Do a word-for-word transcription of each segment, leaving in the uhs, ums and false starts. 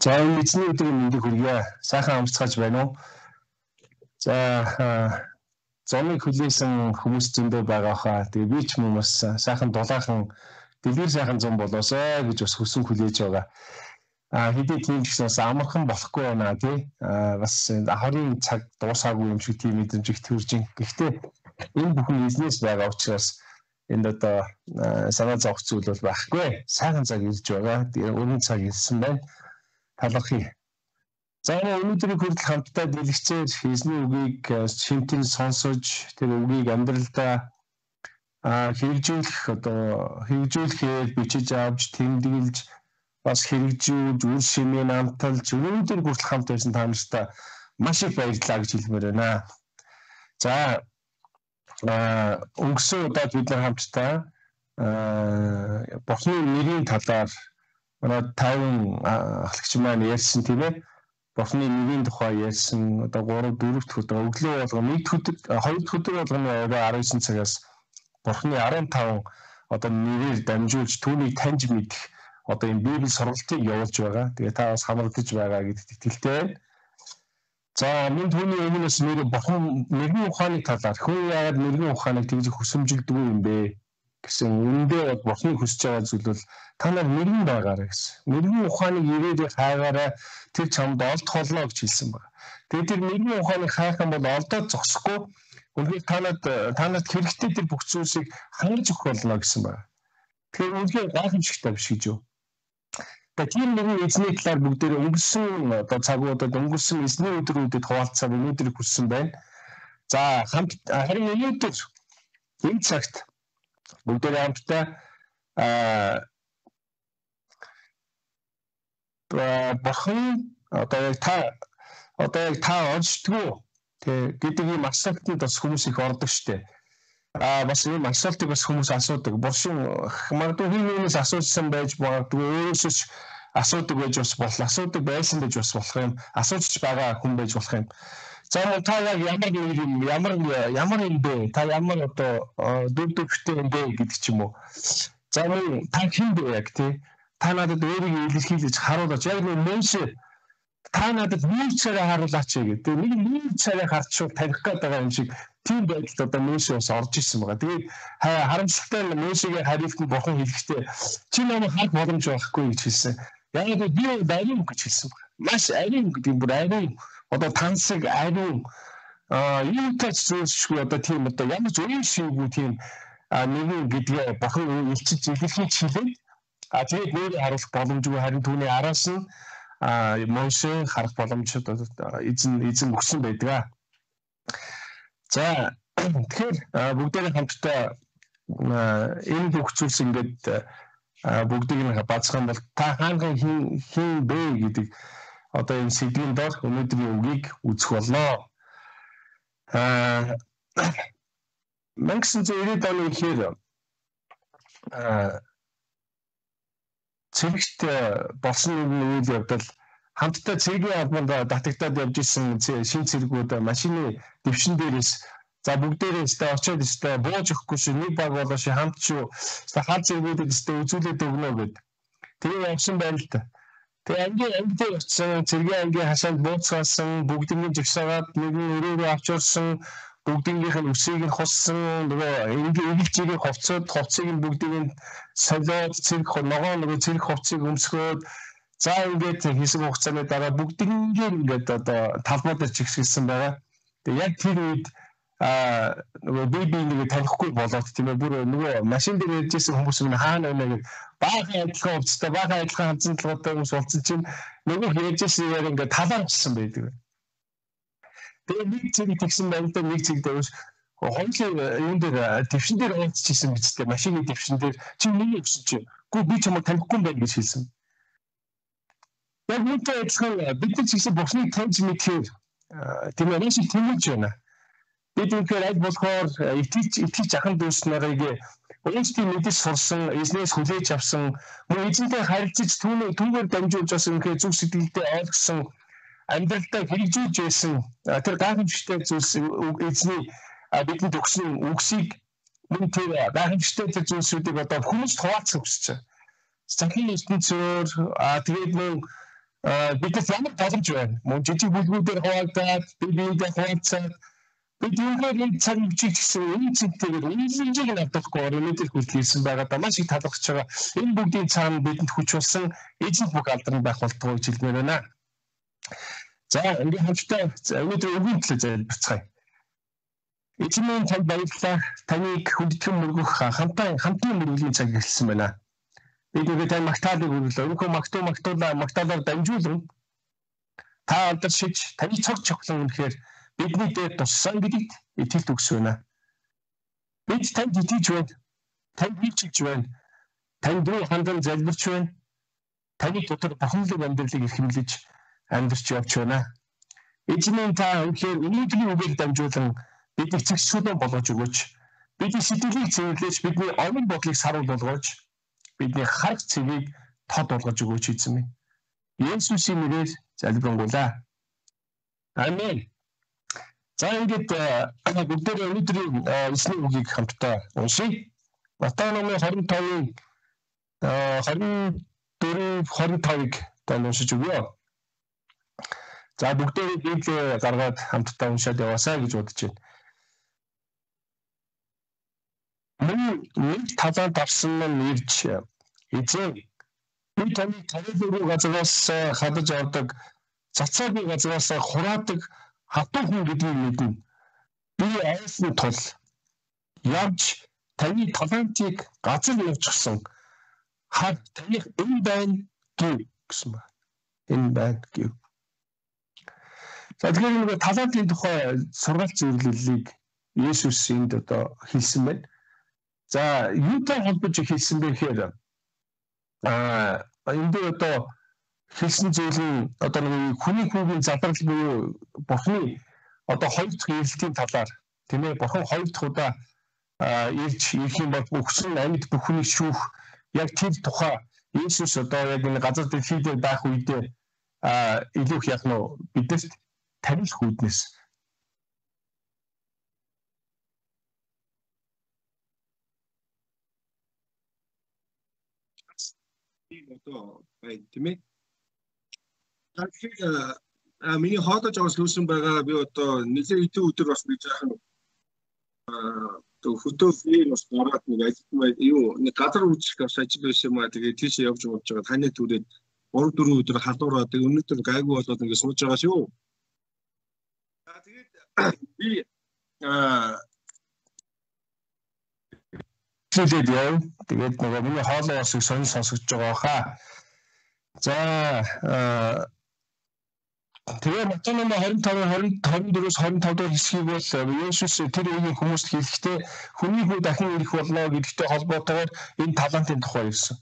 За энэ эзний өдрийн мэндийг хүргье. Сайхан амарцгааж байна уу? За зомыг хүлээсэн хүмүүс зөндөө байгаа хаа. Тэгээ би ч юм бас сайхан дулаахан дэлгэр сайхан зам болоосоо гэж бас хүсэн хүлээж байгаа. А хэдий тийм ч бас амархан болохгүй байна тий. А бас хорийн цаг дуусаагүй юм шиг тийм мэдрэмж их төрж ин. Гэхдээ энэ бүхэн эзнээс байгаа учраас энд одоо санаа зовх зүйл бол байхгүй. Сайхан цаг ирж байгаа. Тэгээ өргөн цаг ирсэн байна. Талархъя. За өнөөдрийн хүртэл хамтдаа дэлгэцээр эзний үгийг шимтэн сонсож тэр үгийг амьдралдаа хэрэгжүүлэх одоо хэрэгжүүлэхээр бичиж авч тэмдэглэж бас хэрэгжүүлж үр шимээ намталж өнөөдөр хүртэл хамт байсан та нартай маш их баярлалаа гэж хэлмээр байна. За өнгөрсөн удаад бид нар хамтдаа Бурхны нэрийн талаар манай таван ахлагч маань ярьсан тийм ээ. Бурхны нэрийн тухай ярьсан. Одоо гурав дөрөв дэх өдөр өглөө болгоно нэг өдөр хоёр дахь өдөр болгоно орой арван девять цагаас Бурхны арван таван одоо нэрээр дамжуулж түүнийг таньж мэдэх одоо энэ Библи сургалтыг явуулж байгаа. Тэгээ та бас хамрагдаж байгаа гэдэгт итгэлтэй байна. За мөн түүний өмнөөс нэр Бурхан нэрийн ухааны талаар хүн яагаад нэрийн ухааныг тэгж хүсэмжилдэг юм бэ гэсэн үндэ Бурхны хүсэж байгаа зүйл бол та нар нэрэн байгаарай гэсэн. Нэрийн ухааныг ирээрээ хайгаарай тэр чамд олдох болно гэж хэлсэн байна. Тэгээд тэр нэрийн ухааныг хайх юм бол олдоод зогсохгүй үнэхээр та нарт та нарт хэрэгтэй тэр бүх зүйлсийг хангаж өгөх болно гэсэн байна. Тэгэхээр үнэхээр гайхамшигтай биш гэж юу. Тэгээд тийм нэгэн эзний талаар бүгдээ өнгөрсөн одоо цагуудад өнгөрсөн эзний өдрүүдэд хуваалцаад өнөөдрийг хүссэн байна. За хамт харин өнөөдөр энэ цагт бүгдээ хамтдаа аа Бурхан одоо яг та одоо яг та онцдгоо тэг гэдэг ийм асуултанд бас хүмүүс их ордог штэ. Аа бас ийм асуултыг бас хүмүүс асуудаг. Бурхан магадгүй хинээс асуусан байж магадгүй өөрөөсөө ч асуудаг байж бас болох. Асуудаг байсан байж бас болох юм. Асуучж байгаа хүн байж болох юм. За та яг ямар юм ямар ямар юм бэ? Та ямар одоо дүр төрхтэй юм бэ гэдэг ч юм уу. За мөн та хэн бэ яг тий? Та надад өөрийгөө илэрхийлж харуулж яг нэг мөншө та надад нэг царай харуулаач гэдэг. Нэг нэг царай харчвал таних гээд байгаа юм шиг тийм байдалд одоо мөншө бас орж ирсэн байгаа. Тэгээд харамсалтай нь мөншөгийн хариулт нь Бурхан хэлэхдээ чи намайг харах боломж байхгүй гэж хэлсэн. Яг л би ариун гэж хэлсэн байна. Маш ариун гэдэг бүр ариун одоо тансаг ариун а юу тач зүйлсгүй одоо тийм одоо ямар ч үе шийгүү тийм нэгэн гэдгээ Бурхан илчилж илэрхийлж хэлээд а тэгээд нэрээ харуулах боломжгүй харин түүний араас нь а Моше харах боломжтой эзэн эзэн өгсөн байдаг. За тэгэхээр бүгдээ хамтдаа энэ бүх зүйлс ингээд бүгдийг нь бацхан бол та хаанхан хин хин бэ гэдэг одоо энэ сэдвийн дор өнөөдрийн үгийг үзэх боллоо. Аа мянга девятьсот девяносто оны ихээр аа цэрэгт болсон нэг үйл явдал хамтдаа цэргийн албанд татагдаад явж исэн шин цэргүүд машины дэвшин дээрээс за бүгдээрээс тэ очиод өстэй бууж өгөхгүй шүү нэг баг болоош хамт шүү хаа цэргүүдэд өстэй үзүүлээд өгнө гэд. Тэгээ явсан байна л та. Тэгээ ангийн ангид очсон цэргийн ангийн хашаанд бууцгаасан бүгднийг жигсаагаад нэг нь өрөөрөө авч урсан бүгдийнх нь үсийг нь хуссан нөгөө энгийн эгэлжийг ховцоод ховцыг нь бүгдийг нь солиод цэрэг ногоо нөгөө цэрэг ховцыг өмсгөөд за ингээд хийсэн хугацааны дараа бүгднийг ингээд одоо талбай дээр чигсэлсэн байгаа. Тэгээ яг тэр үед а нөгөө беби нэг танихгүй болоод тийм ээ бүр нөгөө машин дээр ярьжсэн хүмүүс нь хаана байна гэж баахан адилхан хувцастай баахан адилхан ханцан толгойтой хүмүүс уулзсан чинь нөгөө ярьжсэн яг ингээд талаар болсон байдаг. Тэгээ нэг зэрэг тэгсэн байгаад нэг зэрэг дэвш хоёулаа юун дээр дэвшин дээр уулзчихсан бидтэй машины дэвшин дээр чи миний өгсөн чи гүү би чамайг танихгүй юм байна гэж хэлсэн. Яг үүнтэй адилхан бид нар ч гэсэн Бурхныг таньж мэдхээр тийм ээ нэг шиг тэмүүлж байна. Бид үнэхээр аль болохоор итгэж итгэж ахын дүүс нарыг өөрсдийн мэдээс сурсан, эзнээс хүлээж авсан, мөн эзэнтэй харилцаж түүний түүгээр дамжуулж бас үнэхээр зүг сэтгэлдээ ойлгосон амьдралдаа хэрэгжүүлж байсан тэр гайхамшигтай зүйлс эзний бидэнд өгсөн үгсийг мөн тэр гайхамшигтай тэр зүйлсүүдийг одоо хүмүүст хуваалцах хүсэж байна. Захин ертөнцөөр тэгээд мөн Бидээс ямар боломж байна? Мөн жижиг бүлгүүдээр хуваагдаад, би биендээ хуваалцаад бид юугаар энэ цаг үеийг гэсэн энэ цэнтэйгээр үнэлэмжийг нь авдаггүй өнөөдөр хүртэл ирсэн байгаа маш их талархаж байгаа. Энэ бүгдийн цаана бидэнд хүч болсон эзэн бүх алдран байх болтгоо гэж хэлмээр байна. За ингээд хамтдаа өнөөдөр өвгөн төлөө залбирцгаая. Эзэн минь танд баярлалаа. Таныг хүндэтгэн мөргөх хамтаа хамтын мөргөлийн цаг эхэлсэн байна. Бид бүгд тань магтаалыг өргөлөө. Өнөхөө магтуу магтуулаа магтаалаар дамжуулан та алдаршиж таны цог чухлан үнэхээр бидний дээр туссан гэдэгт итгэлт өгс байна. Бид танд итгэж байна. Танд үйлчилж байна. Танд руу хандан залбирч байна. Таны дотор бурханлаг амьдралыг эрхэмлэж амьдарч явж байна. Эзэн минь та үнэхээр өнөөдрийн үгээр дамжуулан бидний цэгцлэн болгож өгөөч. Бидний сэтгэлийг цэвэрлэж, бидний онон бодлыг саруул болгож, бидний харах цэгийг тод болгож өгөөч эзэн минь. Есүсийн нэрээр залбирanгуйлаа. Амен. За ингээд бүгдээ өнөөдрийн эсний үгийг хамтдаа уншийе. Матай номын двадцать пять-ийн двадцать четыре двадцать пять-ыг тань уншиж өгье. За бүгдээ Библийг гаргаад хамтдаа уншаад яваасаа гэж бодож байна. Мөн нэг талант авсан нь ирж эзэн би таны тарилын газраас хадаж авдаг цацаагийн газраас хураадаг хатуу хүн гэдгийг мэднэ. Би айсан тул явж таны талантыг газар явуулсан хад таних энэ байна гэв гэсэн байна. Энэ байна гэв. За тэгэхээр нэг талантын тухай сургаалт зөвлөлийг Есүс энд одоо хэлсэн байна. За юутай холбож хэлсэн бэ гэхээр аа энд одоо хэлсэн зүйл нь одоо нэг хүний хүүгийн задрал буюу Бурхны одоо хоёр дахь ирэлтийн талаар тийм ээ Бурхан хоёр дахь удаа ирж ирэх юм бол өгсөн амьд бүхнийг шүүх яг тэр тухай Есүс одоо яг энэ газар дэлхий дээр байх үедээ илүү их яг нөө бидэрт тарих үүднээс одоо бай тийм ээ. Тэгэхээр а миний хоолойж авах лүүсэн байгаа би одоо нэлээд хэдэн өдөр бас би жаахан аа хөтөлбөр бас гараад нэг ажил юу нэг газар үүсгэх ажил байсан юм аа тэгээд тийш явж болж байгаа таны түрээд гурав дөрвөн өдөр халуураад тэгээд өнөөдөр гайгүй болоод ингэ сууж байгаа шүү. Аа тэгээд би аа хэлээд яв. Тэгээд нөгөө миний хоолой бас их сонир сонсогдож байгаа хаа. За тэгээ Матай номын двадцать пять двадцать четыре двадцать пять дахь хэсгийг бол Есүс тэр үеийн хүмүүст хэлэхдээ хүний хүү дахин ирэх болно гэдэгтэй холбоотойгоор энэ талантын тухай ирсэн.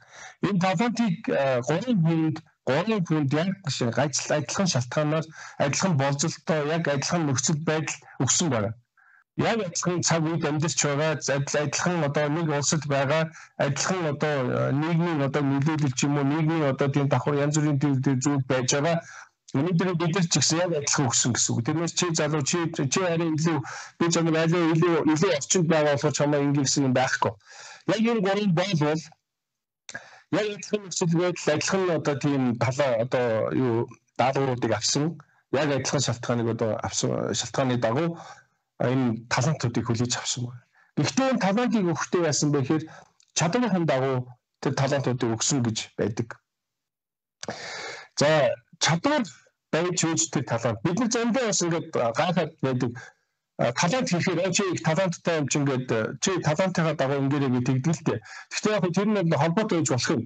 Энэ талантыг гурван хүнд гурван хүнд яг гажил адилхан шалтгаанаар адилхан болжолтой яг адилхан нөхцөл байдал өгсөн байна. Яг адилхан цаг үед амьдарч байгаа адилхан одоо нэг улсад байгаа адилхан одоо нийгмийн одоо нөлөөлөл ч юм уу нийгмийн одоо тийм давхар янз бүрийн зүйл байж байгаа. Өнөөдөр бид нар ч гэсэн яг адилхан өгсөн гэсэн үг. Тэрнээс чи залуу чи чи харин илүү би чамд айлаа илүү илүү орчинд байгаа болохоор чамаа ингэ гэсэн юм байхгүй. Яг энэ гурван бол яг адилхан нөхцөл байдал адилхан одоо тийм талаа одоо юу даалгавруудыг авсан яг адилхан шалтгааныг одоо авсан шалтгааны дагуу энэ талантуудыг хүлээж авсан байна. Гэхдээ энэ талантыг өгөхдөө яасан бэ гэхээр чадварын дагуу тэр талантуудыг өгсөн гэж байдаг. За чадвар байж үүсдэг талант. Бид нар зөндөө бас ингээд гайхаад байдаг. Талант хийхээр чи их таланттай юм чи ингээд чи талантынхаа дагуу ингээрэй гэж тэгдэг л дээ. Гэхдээ яг тэр нь холбоотой байж болох юм.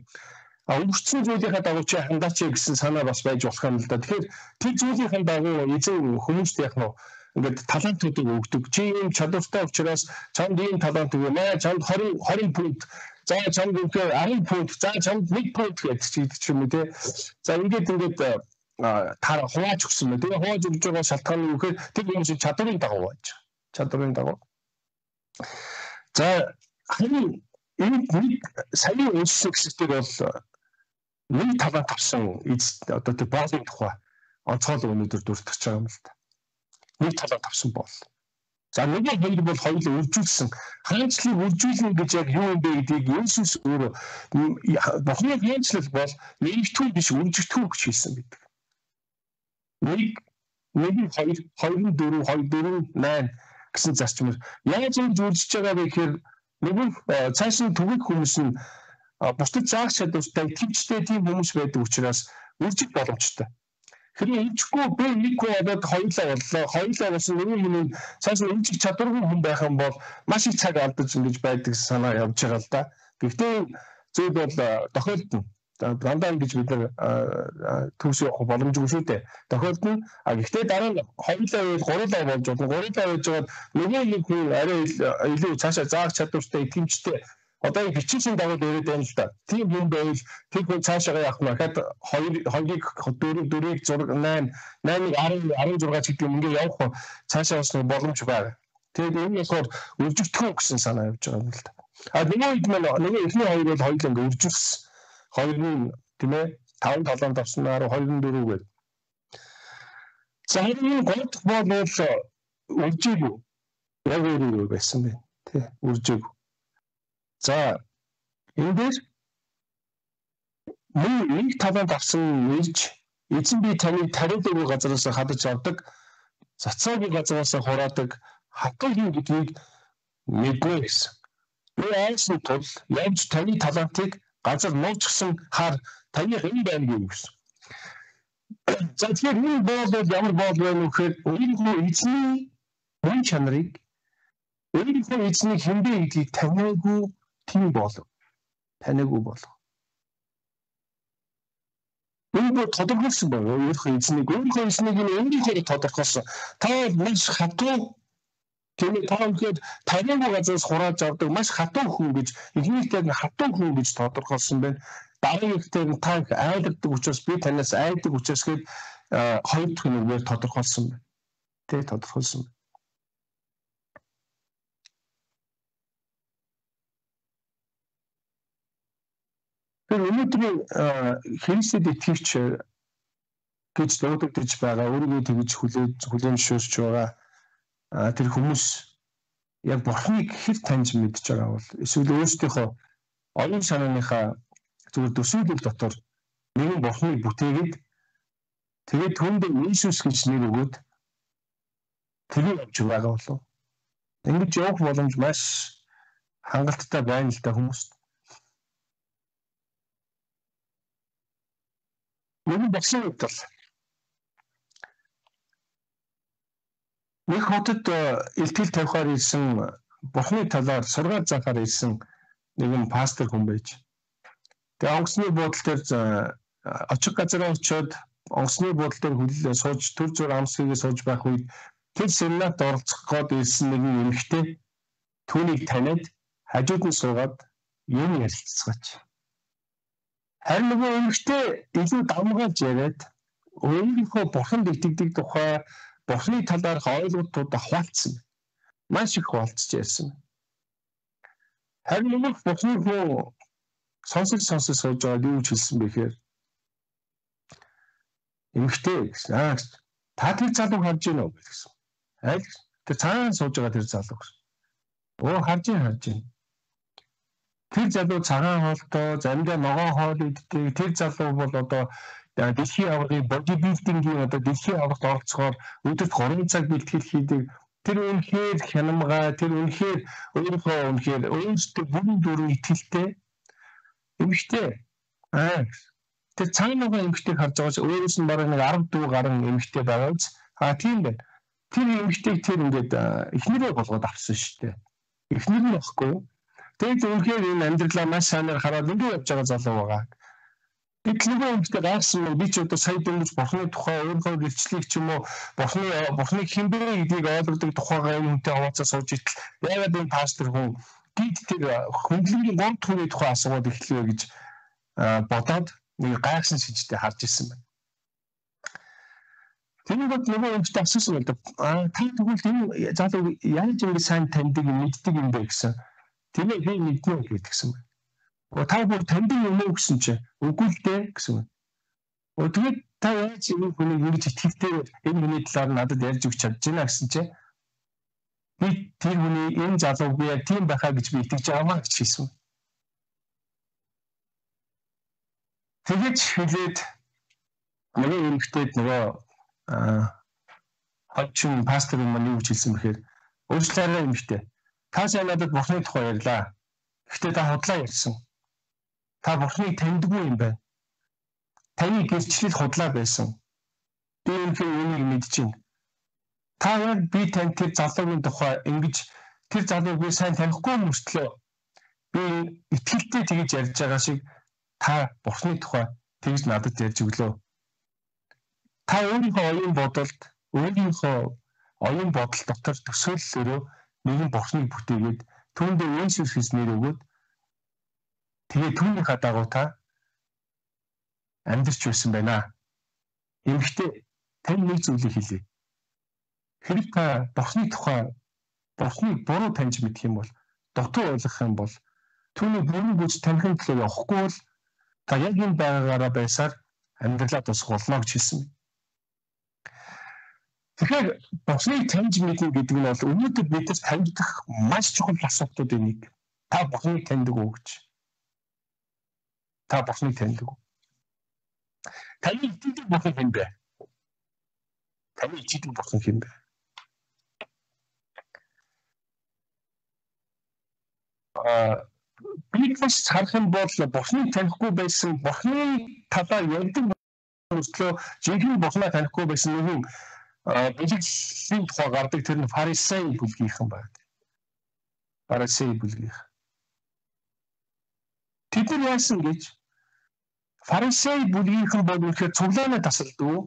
А өнгөрсөн зүйлийнхаа дагуу чи хандаач гэсэн санаа бас байж болох юм л да. Тэгэхээр тэр зүйлийнхаа дагуу эзэн хүмүүст яг нь ингээд талантуудыг өгдөг. Чи ийм чадвартай учраас чамд ийм талант өгөө маа чамд двадцать двадцать пункт. За чамд үнэхээр десять пункт. За чамд нэг пункт гэж ч юм уу те. За ингээд ингээд таар хувааж өгсөн мэ. Тэгээ хувааж өгж байгаа шалтгаан нь юу гэхээр тэр хүмүүсийн чадварын дагуу байж. Чадварын дагуу. За харин энэ нэг саяны үйлчлэл хэсгээр бол нэг талант авсан одоо тэр боолын тухай онцгойлон өнөөдөр дурдж байгаа юм л та. Нэг талант авсан бол. За нэг нь хоёр бол хоёулаа үржүүлсэн. Хаанчлыг үржүүлнэ гэж яг юу юм бэ гэдгийг Есүс өөрөө Бурхны хаанчлал бол нэгтгэл биш үржигдэхүүн гэж хэлсэн байдаг. нэг нэг хоёр хоёр дөрөв хоёр дөрөв найн гэсэн зарчмаар яаж ингэж үржиж байгаа вэ гэхээр нөгөө цааш нь түгэх хүмүүс нь бусдад заах чадвартай төвчтэй тийм хүмүүс байдаг учраас үржих боломжтой. Хэрвээ инжихгүй би нэг хүн одод хоёулаа боллоо. Хоёулаа болсон нөгөө хүн цааш нь инжих чадваргүй хүн байх юм бол маш их цаг алдаж ингэж байдаг санаа явж байгаа л да. Гэхдээ зүйл бол тохиолдно. Дандаа ингэж бид нар төвс явах боломжгүй шүү дээ. Тохиолдно. А гэхдээ дараа нь хоёулаа байвал гурлаа болж болно. Гурлаа байж байгаа нөгөө нэг хүн арай илүү цаашаа заах чадвартай итгэмжтэй одоо бичсэн дагуу дөрөв байна л да. Тийм юм байвал тэр хүн цаашаа явах нь хахад хоёр хоёрыг дөрөв дөрвийг зураг найн найныг арван зураг гэдэг юм ингээ явах цаашаа бас боломж байна. Тэгээд энэ болохоор үржигдэх гэсэн санаа явж байгаа юм л да. А нөгөө хэд маань нөгөө эхний хоёр бол хоёул ингээ үржигсэн. Хоёр нь тийм ээ таван талаанд авснаар хоёр нь дөрөв гээд. За энэ гол бол үржиггүй. Яг өөрөө байсан бэ. Тэ үржиггүй. За энэ дээр нэг талаанд авсан ирж эзэн би таныг тариалаагүй газараас хадаж авдаг, цацаагүй газараас хураадаг хатуу юм гэдгийг мэднэ гэсэн. Би айсан тул явж таны талантыг газар нууцсан хаар таны хэн байна гэсэн. За тэгэхээр энэ боол ямар боол вэ гэхээр өөрийнхөө эзний хүн чанарыг өөрийнхөө эзний хэмбэ гэдгийг таниагүй тийм болов. Таниагүй болов. Энэ тодорхойлсон байна. Өөрийнхөө эзнийг өөрийнхөө эзнийг өөрийнхөө тодорхойлсон. Та маш хатуу тийм та өнөхөд таниагүй газраас хурааж авдаг маш хатуу хүн гэж эхнийхтэй хатуу хүн гэж тодорхойлсон байна. Дараагийнхтэй та айддаг учраас би танаас айдаг учраас гээд хоёр дахь нүгээр тодорхойлсон байна. Тэ тодорхойлсон. Тэр өнөөдрийн Христэд итгэвч гэж дуудагдж байгаа өөрийгөө тэгж хүлээж хүлээмжшүүлж байгаа тэр хүмүүс яг Бурхныг хэр таньж мэдж байгаа бол эсвэл өөрсдийнхөө оюун санааныхаа зүгээр төсөөлөл дотор нэгэн Бурхныг бүтээгээд тэгээд түүнд Иесус гэж нэр өгөөд тэрийг авч байгаа болов. Ингэж явах боломж маш хангалттай байна л да хүмүүст. Нэг багшийн хувьд бол нэг хотод илтгэл тавихаар ирсэн Бурхны талаар сургаал заахаар ирсэн нэгэн пастор хүн байж. Тэгээ онгоцны буудлын дээр очих газараа очиод онгоцны буудлын дээр хүлээ сууж төр зур амсгийг сууж байх үед тэр семинарт оролцох гээд ирсэн нэгэн эмэгтэй түүнийг таниад хажууд нь суугаад юм ярилцсаач. Харин нөгөө эмэгтэй илүү дамгаалж яриад өөрийнхөө Бурханд итгэдэг тухай Бурхны талаарх ойлголтуудаа хуваалцсан. Маш их хуваалцж ярьсан. Харин нөгөө Бурхны хүн сонсож сонсож сууж байгаа юу ч хэлсэн бэ гэхээр эмэгтэй гэсэн. Аа та тэр залууг харж байна уу гэсэн. Аль тэр цаана сууж байгаа тэр залуу гэсэн. Оо харж байна харж байна. Тэр залуу цагаан хоолтой, заримдаа ногоон хоол иддэг. Тэр залуу бол одоо дэлхийн аваргын бодибилдингийн одоо дэлхийн аваргад оролцохоор өдөрт гурван цаг бэлтгэл хийдэг. Тэр үнэхээр хянамгай, тэр үнэхээр өөрийнхөө үнэхээр өөртөө бүрэн дүрэн итгэлтэй эмэгтэй. Аа тэр цаанаага эмэгтэйг харж байгаа ч өөрөөс нь бараг нэг арав дүү гарan эмэгтэй байгаа биз. Аа тийм байна. Тэр эмэгтэйг тэр ингээд эхнэрээ болгоод авсан шүү дээ. Эхнэр нь багхгүй юу? Тэгээд үнэхээр энэ амьдралаа маш сайнаар хараад ингээд явж байгаа залуу байгаа. Битлэгөө өмчтэй гайхсан би ч одоо сая дөнгөж Бурхны тухай өөрийнхөө гэрчлэлийг ч юм уу Бурхны Бурхны хинбэ гэдгийг ойлгодог тухайгаа юмтай хаваацаа сууж итэл яагаад энэ пастор хүн гид тэр хүндлэнгийн гомд хүний тухай асууад эхлэв гэж бодоод нэг гайхсан шижтэй харж ирсэн байна. Тэнийг нөгөө өмчтэй асуусан бол та тэгвэл энэ залуу яаж ингэ сайн таньдаг мэддэг юм бэ гэсэн. Тэгээ би мэднэ гэдгсэн байна. Та бүр таньдаг юм уу гэсэн чинь үгүй л дээ гэсэн байна. Оо тэгээд та яаж энэ хүнийг ингэж итгэвтэй энэ хүний талаар надад ярьж өгч чадж байна гэсэн чинь би тэр хүний энэ залууг би яг тийм байхаа гэж би итгэж байгаамаа гэж хэлсэн. Тэгээд хэлээд нөгөө эмэгтэйд нөгөө аа хожим пастор юм юу гэж хэлсэн бэхээр өөрчлөлөө юм ихтэй. Та сайн надад бурхны тухай ярьлаа. Гэхдээ та худлаа ярьсан. Та бурхныг таньдгүй юм байна. Таны гэрчлэл худлаа байсан. Би үнэхээр үнийг мэдэж байна. Та яг би тань тэр залуугийн тухай ингэж тэр залууг би сайн танихгүй мөртлөө би итгэлтэй тэгж ярьж байгаа шиг та бурхны тухай тэгж надад ярьж өглөө. Та өөрийнхөө оюун бодолд, өөрийнхөө оюун бодол дотор төсөөллөөрөө нэгэн бурхныг бүтээгээд түүндээ Есүс Христ нэр өгөөд тэгээ түүнийхээ дагуу та амьдарч байсан байна. Эмэгтэй тань нэг зүйлийг хэлье. Хэрэг та бурхны тухай бурхныг буруу таньж мэдэх юм бол, дутуу ойлгох юм бол түүний бүрэн гүйж танихын төлөө явахгүй бол та яг энэ байгаагаараа байсаар амьдралаа тусах болно гэж хэлсэн. Тэгэхээр бурхныг таньж мэднэ гэдэг нь бол өнөөдөр бидээс таньдах маш чухал асуудлуудын нэг. Та бурхныг таньдаг уу гэж. Та бурхныг таньдаг уу? Таны итгэдэг бурхан хэн бэ? Таны итгэдэг бурхан хэн бэ? Аа Библиэс харах юм бол бурхныг танихгүй байсан, бурхны талаар ярьдаг мөртлөө жинхэнэ бурхнаа танихгүй байсан нэгэн бэлгэлийн тухай гардаг тэр нь фарисей бүлгийнхэн байна. Фарисей бүлгийнх. Тэд нар яасан гэж фарисей бүлгийнхэн бол үнэхээр цуглааны тасалдгүй.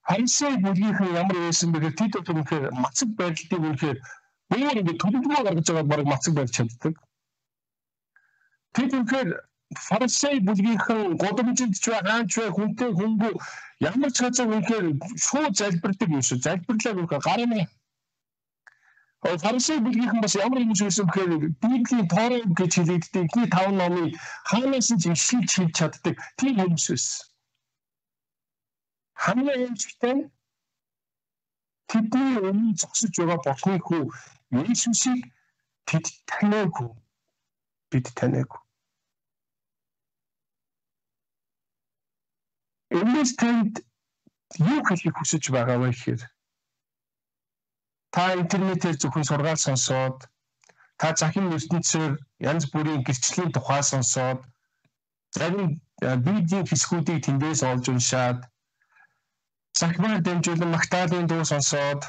Фарисей бүлгийнхэн ямар байсан бэхээр тэд үнэхээр мацаг байдлыг үнэхээр өөр ингэ төлөвлөгөө гаргаж байгаа баг мацаг байж чаддаг. Тэд үнэхээр фарисей бүлгийнхэн годомжинд ч бай, хаанч бай, хүнтэй хүнгүй ямар ч газар үнэхээр шууд залбирдаг юм шиг залбирлаа үнэхээр гарна. Фарисей бүлгийнхэн бас ямар юм шиг бэхээр Библийн Торог гэж хэлэгддэг ихний таван номыг хаанаас ч ишлж хэлж чаддаг тийм хүмүүс байсан. Хамгийн эмчтэй тэдний өмнө зогсож байгаа бурхны хүү Есүсийг тэд таниагүй. Бид таниагүй. Энэс тэнд юу хэлхийг хүсэж байгаа вэ гэхээр та интернетээр зөвхөн сургаал сонсоод та захин ертөнцөөр янз бүрийн гэрчлийн тухай сонсоод зарим видео хэсгүүдийг тэндээс олж уншаад захимаар дамжуулан Магдалины дуу сонсоод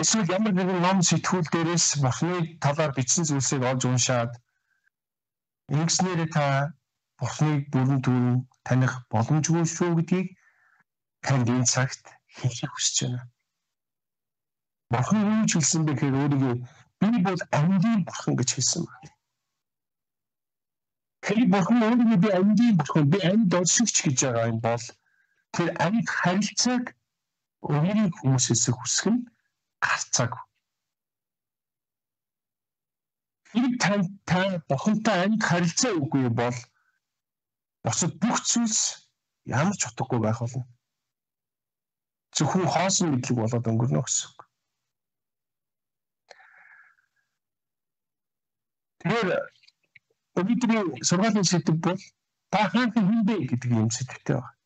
эсвэл ямар нэгэн ном сэтгүүл дээрээс бурхны талаар бичсэн зүйлсийг олж уншаад ингэснээр та бурхныг бүрэн түрүү таних боломжгүй шүү гэдгийг танд энэ цагт хэлхийг хүсэж байна. Бурхан юу ч хэлсэн бэ гэхээр өөрийгөө би бол амьдын бурхан гэж хэлсэн байна. Тэгэхээр бурхан өөрийгөө би амьдын бурхан, би амьд олшигч гэж байгаа юм бол тэр амьд харилцааг өөрийн хүмүүсээс хүсэх нь гарцааг. Хэрэг тань та бурхантай амьд харилцаа үгүй бол босод бүх зүйлс ямар ч утгагүй байх болно. Зөвхөн хоосон мэдлэг болоод өнгөрнө гэсэн үг. Тэгэхээр өнөөдрийн сургаалын сэдэв бол та хаанхан хэн бэ гэдэг юм сэдвтэй байна.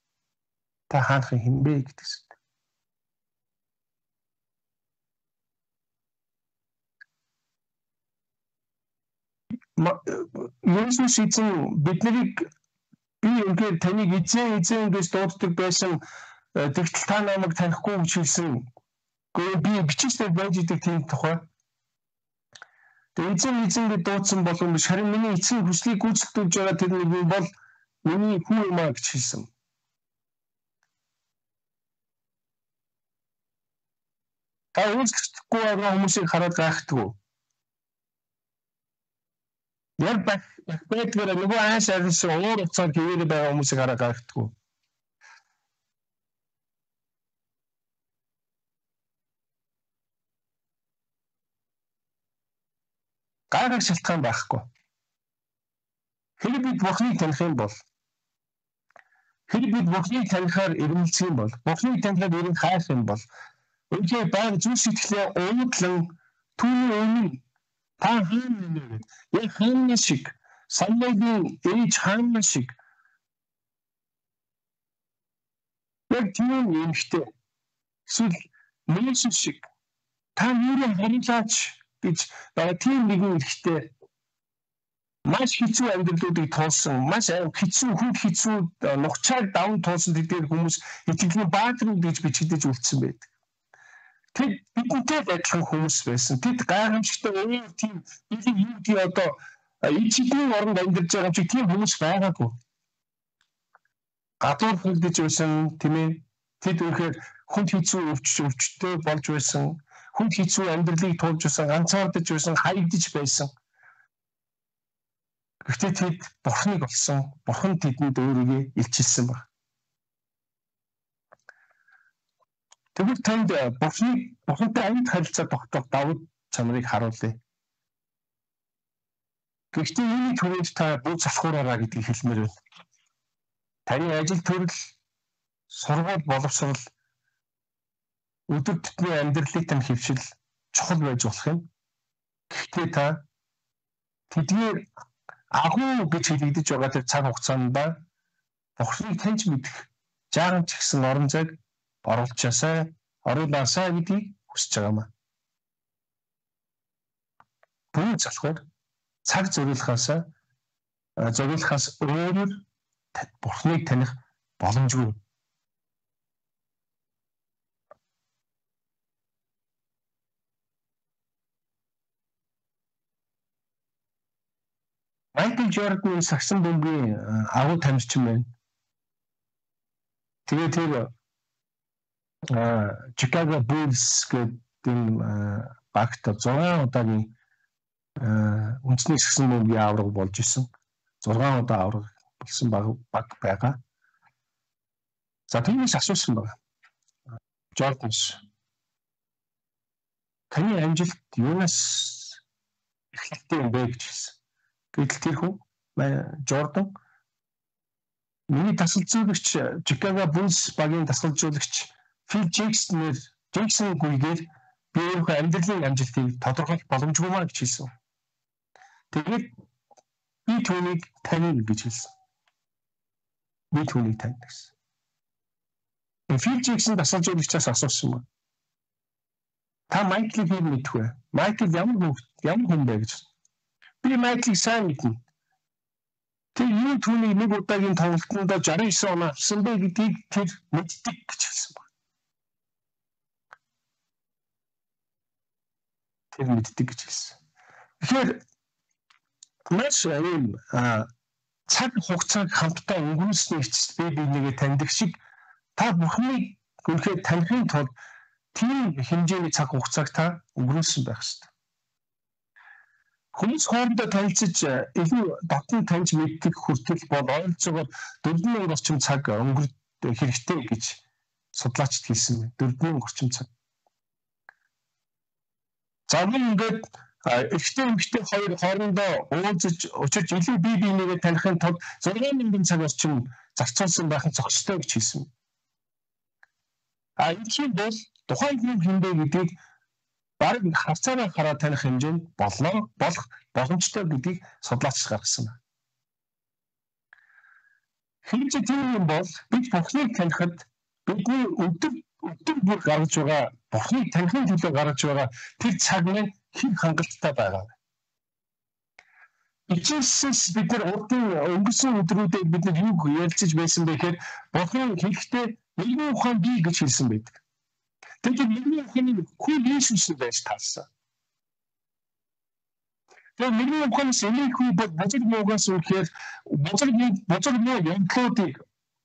Та хаанхан хэн бэ гэдэг сэдв. Есүс эзэн биднийг би ингээд таныг эзэн эзэн гэж дууддаг байсан тэгтэл та намайг танихгүй гэж хэлсэн. Гэхдээ би бичээсээр байж идэг тийм тухай. Тэгээ эзэн эзэн гэж дуудсан болов биш харин миний эцгийн хүслийг гүйцэтгүүлж байгаа тэр нэг бол миний хүү юм аа гэж хэлсэн. Та үйлчлэхгүй байгаа хүмүүсийг хараад гайхдаг. Яг байх байдгаар нөгөө ааш арилсан уур уцаар хэвээр байгаа хүмүүсийг хараад гайхдаг. Гайхах шалтгаан байхгүй. Хэрэг бид бурхныг таних юм бол хэрэг бид бурхныг танихаар ирмэлцэх юм бол бурхныг танихаар ирэн хайх юм бол үнэхээр баг зүс сэтгэлээ уудлан түүний өмнө та хаана нэ яг хаана шиг самбайгийн ээж хаана шиг Яг тийм юмштэй. Эсвэл Мөсөс шиг та юурын харилцаач гэж байгаа тийм нэгэн ихтэй маш хэцүү амьдралуудыг туулсан, маш хэцүү хүн хэцүү нухчааг даван туулсан тэдгээр хүмүүс итгэлийн баатарууд гэж бичигдэж үлдсэн байдаг. Тэд бидэнтэй адилхан хүмүүс байсан. Тэд гайхамшигтай өөр тийм бидний юу гэдэг одоо ичлийн оронд амьдарч байгаа юм шиг тийм хүмүүс байгаагүй. Гадуур хөлдөж байсан тийм ээ. Тэд өөрөөр хүнд хэцүү өвч өвчтэй болж байсан. Хүнд хэцүү амьдралыг туулж байсан, ганцаардаж байсан, хаягдж байсан. Гэхдээ тэд бурхныг олсон, бурхан тэдэнд өөрийгөө илчилсэн баг. Тэгвэл танд бурхныг бурхантай амьд харилцаа тогтоох давуу чанарыг харуулъя. Гэхдээ үүний түрүүнд та бүх залхуураараа гэдгийг хэлмээр байна. Таны ажил төрөл, сургууль боловсрол, өдөр тутмын амьдралын тань хөвшил чухал байж болох юм. Гэхдээ та тэдгээр агуу гэж хэлэгдэж байгаа тэр цаг хугацаанд бурхныг таньж мэдэх жаахан ч гэсэн орон зайг оруулчаасай, оруулаасай гэдгийг хүсэж байгаамаа. Бүх залхуур цаг зориулахаас зориулахаас өөрөөр бурхныг таних боломжгүй. Майкл Джордан сагсан бөмбөгийн агуу тамирчин байна. Тэгээд тэр Chicago Bulls гэдэг багт зургаан удаагийн үндэсний сагсан бөмбөгийн аварга болж исэн. зургаан удаа аварга болсон баг байгаа. За тиймээс асуусан байна. Jordan-с таны амжилт юунаас эхэлдэг юм бэ гэж хэлсэн. Гэтэл тэр хүн Jordan миний тасалжуулагч Chicago Bulls багийн тасалжуулагч Phil Jackson-ээр Jackson гүйгээр би өөрийнхөө амьдралын амжилтыг тодорхойлох боломжгүй маа гэж хэлсэн. Тэгээд би түүнийг таних гэж хэлсэн. Би түүнийг таних гэсэн. Phil Jackson тасалжуулагчаас асуусан байна. Та Майклыг хэн мэдэх вэ? Майкл ямар хүн ямар хүн бэ гэж. Би Майклыг сайн мэднэ. Тэр юу түүний нэг удаагийн тоглолтод шестьдесят девять оноо авсан бэ гэдгийг тэр мэддэг гэж хэлсэн байна. Тэр мэддэг гэж хэлсэн. Тэгэхээр маш юм цаг хугацааг хамтдаа өнгөрүүлсний эцэст би бинийгээ таньдаг шиг та бурхныг үнэхээр танихын тулд тийм хэмжээний цаг хугацааг та өнгөрүүлсэн байх ёстой. Хүмүүс хоорондоо танилцж илүү дотн таньж мэддэг хүртэл бол ойролцоогоор дөрвөн мянган орчим цаг өнгөрөх хэрэгтэй гэж судлаачид хэлсэн байна. дөрвөн мянган орчим цаг. За ингээд эхтэй эмэгтэй хоёр хоорондоо уулзаж учирч илүү бие биенийгээ танихын тулд зургаан мянган цаг орчим зарцуулсан байх нь зохистой гэж хэлсэн. А энэ бол тухайн хүн хинбэ гэдгийг баг хавцаараа хараад таних хэмжээнд болно болох боломжтой гэдгийг судлаач гаргасан байна. Хинч тийм юм бол бид бурхныг танихад бидний өдөр өдөр бүр гаргаж байгаа бурхныг танихын төлөө гаргаж байгаа тэр цаг нь хэн хангалттай байгаа вэ? Ичээс бид нар урдын өнгөрсөн өдрүүдэд бид нар юу ярилцаж байсан бэ гэхээр бурхан хэлэхдээ нэгэн ухаан бий гэж хэлсэн байдаг. Тэгээд нэгэн ухааны хүн Иесус байж таарсан. Тэгээд нэгэн ухаанаас энийг хүй бод бузар муугаас үхээр бузар бузар муу янтлуудыг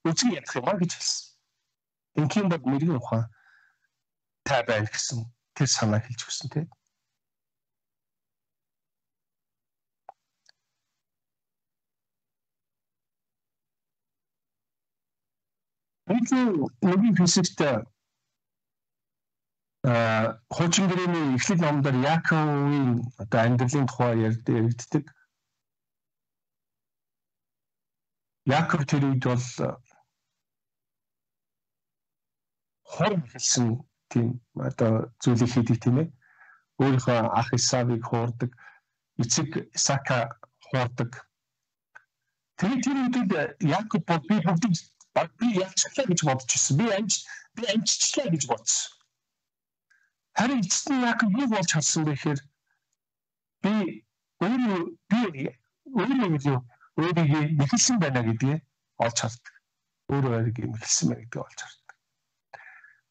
үзэн ядах юм а гэж хэлсэн. Ингийн бод нэгэн ухаан та байх гэсэн тэр санаа хэлж өгсөн тийм. Нэгэн физикт а хуучин гэрээний эхлэл номдор Яаковын одоо амьдралын тухай ярьдаг. Яаков тэр үед бол хор хэлсэн тийм одоо зүйлийг хийдэг тийм ээ. Өөрийнхөө ах Исавыг хуурдаг, эцэг Исака хуурдаг. Тэр тэр үед Яаков бол би бүгдийг баг би ялцлаа гэж бодож ирсэн. Би амж би амжчлаа гэж бодсон. Харин эцэст нь яг юу болж харсан бэ гэхээр би өөрөө би өөрөө өөрийгөө нэхэлсэн байна гэдгийг олж хардаг. Өөрөө өөрийгөө нэхэлсэн байна гэдгийг олж хардаг.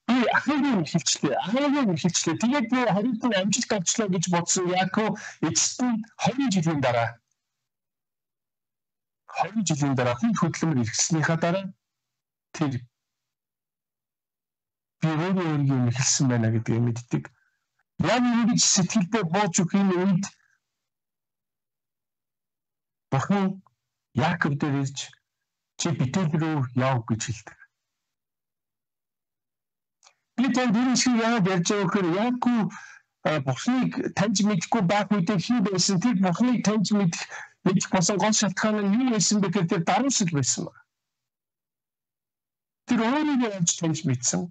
Би ахыгийн хэлчлээ, ахыгийн хэлчлээ. Тэгээд би харин нь амжилт авчлаа гэж бодсон. Яг нь эцэст нь хоёр жилийн дараа хоёр жилийн дараа хүн хөдөлмөр эргэснийхаа дараа тэр би өөрөө өөрийгөө нэхэлсэн байна гэдгийг мэддэг. Яг ингэж сэтгэлдээ бууж өгөх юм үед Бурхан Яаков дээр ирж чи Бетел рүү яв гэж хэлдэг. Би танд энэ шиг яагаад ярьж байгаа гэхээр Яаков Бурханыг таньж мэдгүй байх үедээ хин байсан тэр Бурханыг таньж мэдэх мэдэх болсон гол шалтгаан нь юу байсан бэ гэхээр тэр даруусал байсан байна. Тэр өөрийгөө олж таньж мэдсэн.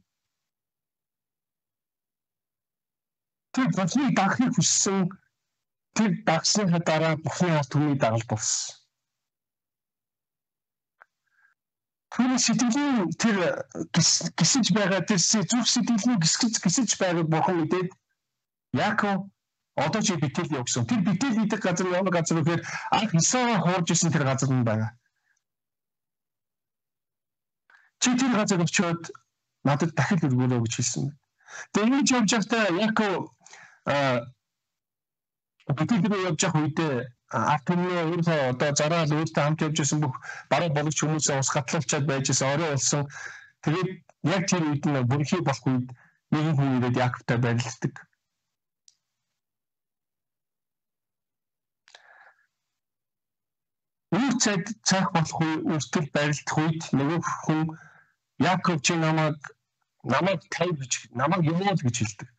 Тэр Бурханыг дагахыг хүссэн. Тэр дагсныхаа дараа Бурханы ард түмний дагалд болсон. Тэр сэтгэлийн тэр гисэж байгаа тэр зүрх сэтгэлийн гисгэж гисэж байгааг Бурхан мэдээд Яаков одоо чи Бетел явсан. Тэр Бетел гэдэг газар ямар газар вэ гэхээр анх Исаага хуурж исэн тэр газар нь байгаа. Чи тэр газар очиод надад дахил өргөөрэй гэж хэлсэн. Тэгээ ингэж явж байхдаа Яаков Бетел рүү явж явах үедээ ард түмний өөрөө одоо зараал өөртөө хамт явж байсан бүх бараа болгоч хүмүүсээ ус гатлуулчаад байж байсан орой болсон. Тэгээд яг тэр үед нь бүрхий болох үед нэгэн хүн ирээд Яаковтай барилддаг. Үр цайд цаах болох үе үртэл барилдах үед нөгөө хүн Яаков чи намайг намайг тайв гэж намайг юмуул гэж хэлдэг.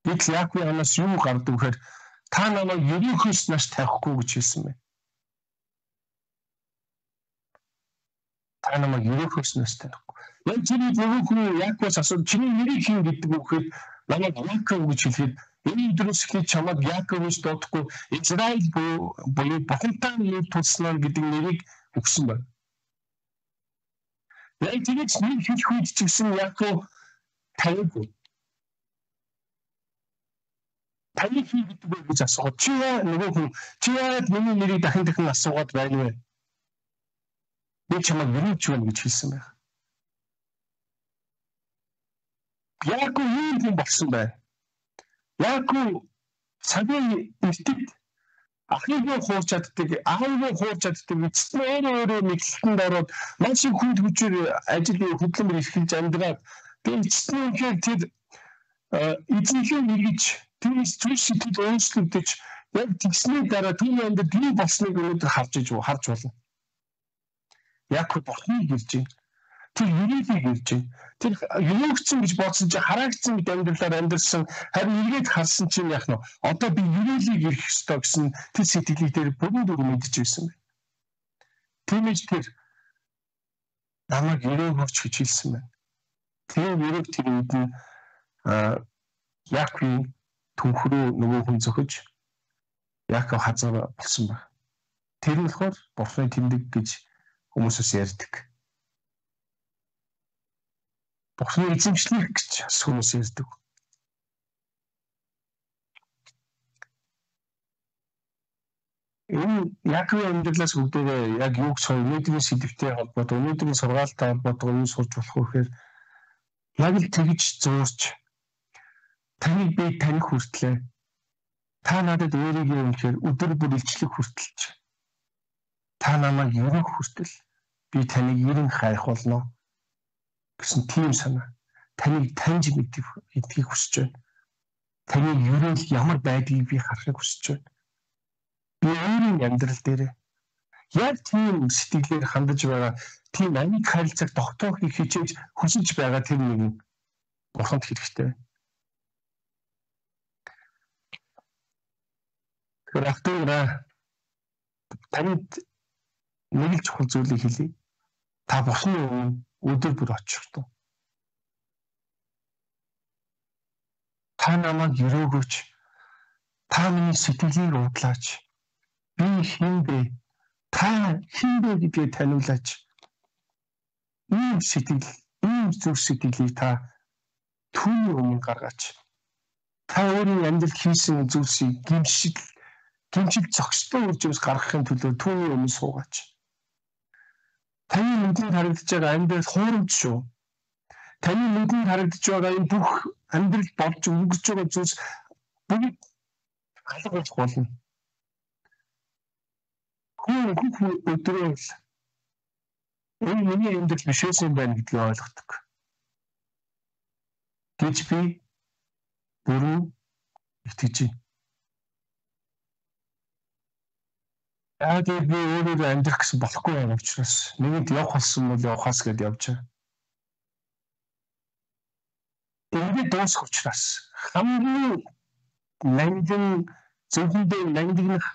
Бид л Яаковын анаас юу гардаг вэхээр та намайг ерөнхийс наш тавихгүй гэж хэлсэн байна. Та намайг ерөнхийс наш тавихгүй. Яг тэр нөгөө хүн Яаковоос асуув чиний нэрийг хэн гэдэг вэ гэхээр намайг Яаков гэж хэлэхэд энэ өдрөөс эхлээд чамайг Яаков гэж дуудахгүй Израиль буюу Бурхантай нэр тулснаа гэдэг нэрийг өгсөн байна. Яг тэгэж нэр хэлэх үед ч гэсэн Яаков тавихгүй. Таны хий гэдэг үү гэж асууад чи яа нөгөө хүн чи яагаад миний нэрийг дахин дахин асуугаад байна вэ? Би чамайг юуч байна гэж хэлсэн байх. Яаков юу юм болсон бэ? Яаков цагийн эртэд ахыгаа хуурч чаддаг, аавгаа хуурч чаддаг, эцэст нь өөрөө өөрөө мэдлэлтэнд ороод маш их хүнд хүчээр ажил хөдөлмөр эрхэлж амьдраад тэгээд эцэст нь үнэхээр тэр эзэнхээ нэгж тэрс зүйл сэтгэл өөрчлөгдөж яг тэгсний дараа түүний амьдрал юу болсныг өнөөдөр харж иж харж болно. Яаков Бурханыг ирж байна. Тэр юрэлийг ирж байна. Тэр юугцэн гэж бодсон чинь хараагдсан мэт амьдралаар амьдсан харин эргээд харсан чинь яах нь одоо би юрэлийг ирэх ёстой гэсэн тэр сэтгэлийг тэр бүрэн дүр мэдж байсан байна. Тиймээс тэр намайг юрэг өгч гэж хэлсэн байна. Тэр юрэг тэр үед нь Яаковын түнхрүү нөгөө хүн зөхөж Яаков хазар болсон байна. Тэр нь болохоор Бурханы тэмдэг гэж хүмүүсээс ярьдаг. Бурханы эзэмшлэх гэж хүмүүс ярьдаг. Энэ Яаковын амьдралаас бүгдээ яг юу гэж өнөөдрийн сэдвтэй холбоотой, өнөөдрийн сургаалтай холбоотой юу сурч болох вэ гэхээр яг л тэгж зуурч таныг би таних хүртлээ. Та надад өөрийгөө үнэхээр өдөр бүр илчлэх хүртэлж. Та намайг ерөнх хүртэл би таныг ерөн хайх болно гэсэн тийм санаа. Таныг таньж мэдэх эдгийг хүсэж байна. Таны ерөнх ямар байдгийг би харахыг хүсэж байна. Би өөрийн амьдрал дээр яг тийм сэтгэлээр хандаж байгаа тийм амиг харилцааг тогтоохыг хичээж хүсэж байгаа тэр нэг Бурханд хэрэгтэй. Тэгэхээр ахтуураа танд нэг л чухал зүйлийг хэлье. Та Бурханы өмнө өдөр бүр очих туу. Та намайг өрөөгөөч. Та миний сэтгэлийг удлаач. Би хэн бэ? Та хэн бэ гэдгийг таниулаач. ийм сэтгэл, ийм зүрх сэтгэлийг та түүний өмнө гаргаач. Та өөрийн амьдралд хийсэн зүйлсийг гимшил, гимшил зохистой үржимс гаргахын төлөө түүний өмнө суугаач. Таны нүдэнд харагдаж байгаа амьдрал хуурамч шүү. Таны нүдэнд харагдаж байгаа энэ бүх амьдрал болж өнгөрч байгаа зүйлс бүгд алга болох болно. Хүн хүн өдрөө л энэ миний амьдрал биш байсан байна гэдгийг ойлгодог. Гэж би бүрэн итгэж байна. Яг би өөрөө амьдрах гэсэн болохгүй байгаа учраас нэгэнд явах болсон бол явахаас гээд явж байгаа. Ингээд дуусах учраас хамгийн нандин зөвхөндөө нандинах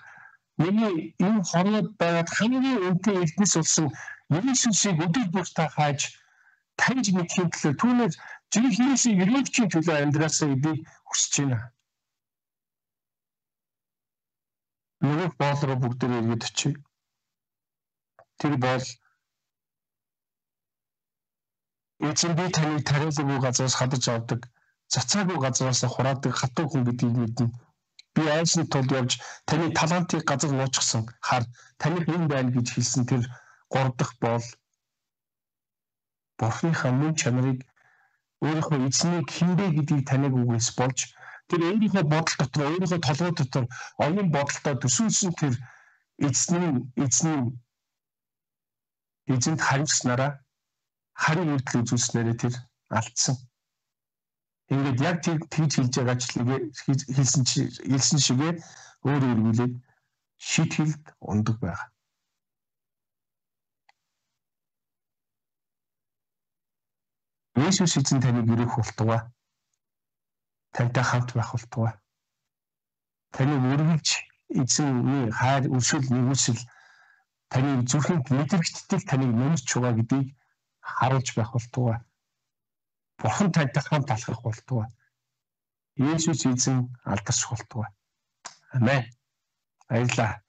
миний энэ хорвоод байгаад хамгийн үнэтэй элднээс болсон Есүсийг өдөр бүр та хааж таньж мэдхийн төлөө түүнээс жинхэнэсийг өрөөчийн төлөө амьдраасаа би хүсэж байна. Нөгөө боол руу бүгдээ иргэд очив. Тэр бол эцэг би таныг тариалаагүй газраас хадаж авдаг, цацаагүй газраас хураадаг хатуу хүн гэдгийг мэднэ. Би айсны тулд явж таны талантыг газар нуучсан хар таних юм байна гэж хэлсэн тэр гурав дахь боол Бурхныхаа мөн чанарыг өөрийнхөө эзнийг хинбэ гэдгийг таних үгээс болж тэр өөрийнхөө бодол дотор, өөрийнхөө толгой дотор оюун бодолтой төсөөлсөн тэр эзний эзний эзэнд хариуцснараа харин үйлдэл үзүүлснээрээ тэр алдсан. Ингээд яг тэр тэгж хэлж байгаа ч хэлсэн хэлсэн шигээ өөр өөргөлөө шид хэлд ундаг байгаа. Есүс эзэн таныг өрөөх болтугай. Тантай хамт байх болтугай. Таныг өргөж эзэнний хайр өршөөл нэгүсэл таны зүрхэнд мэдрэгдтэл таныг нэмж байгаа гэдгийг харуулж байх болтугай. Бурхан тантай хамт алхах болтугай. Есүс эзэн алдарч болтугай. Амен. Баярлалаа.